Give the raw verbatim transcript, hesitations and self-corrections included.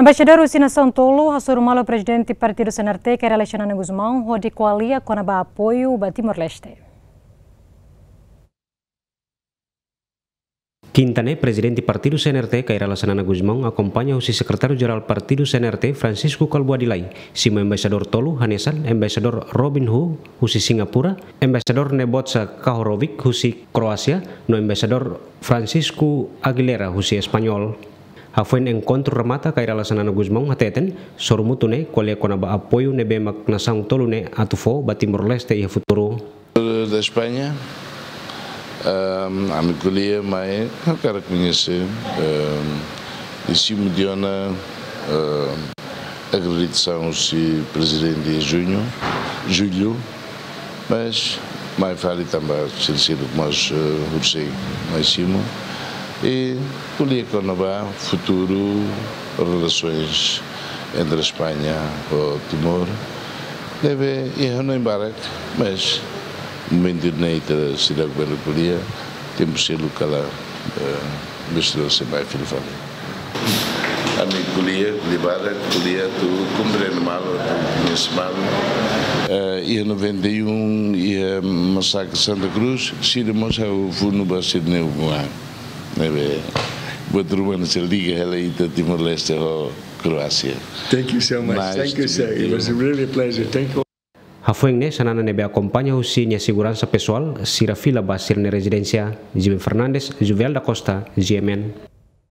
Embaixadór husi nasaun tolu hasoru malu Prezidente Partidu C N R T, Kay Rala Xanana Gusmão, hodi ko'alia kona-ba apoiu ba Timor-Leste. Kinta ne'e, Prezidente Partidu C N R T, Kay Rala Xanana Gusmão, akompaña husi Sekretáriu Jerál Partidu C N R T, Francisco Kalbuadi Lay, simu embaixadór tolu, hanesan Embaixadór Robin Hu husi Singapura, Embaixadór Nebojsa Kahorovic husi Kroasia, no Embaixadór Francisco Aguilera husi Español. Hafoin enkontru remata, Kay Rala Xanana Gusmão hateten, sorumutu ne'e ko'alia kona-ba apoiu ne'ebé mak nasaun tolu ne'e atu fó ba Timor-Leste iha futuru. Da España, ehm, ami ko'alia mai, ha'u hakarak koñese, ehm, i simu tiha ona, ehm, akreditasaun husi Prezidente iha juñu, jullu, mas mai fali tanba sira seluk mós, eh, husi mai simu. I ko'alia kona-ba futuru relasoens entre España ho Timor. Deve iha hanoin barak, mas momentu ne'e ita seidauk bele ko'alia, tempu seluk kala, eh, bele sei mai fila fali. Ami ko'alia, ko'alia barak, ko'alia atu komprende malu, atu koñese malu. Eh, iha noventa e um, iha masakre Santa Cruz, sira mós ha'u funu ba sira-nia ukun-an. Ne'ebé, buat ruma ne'e sei liga hela ita Timor-Leste ho Kroasia. Thank you so much. Nice to meet you. Thank you, sir. It was really a pleasure. Thank you. Hafoin ne'e, Xanana ne'ebé akompaña husi nia seguransa pesoál, sira fila ba sira-nia rezidénsia. Jimmy Fernandes, Juvel da Costa, G M N.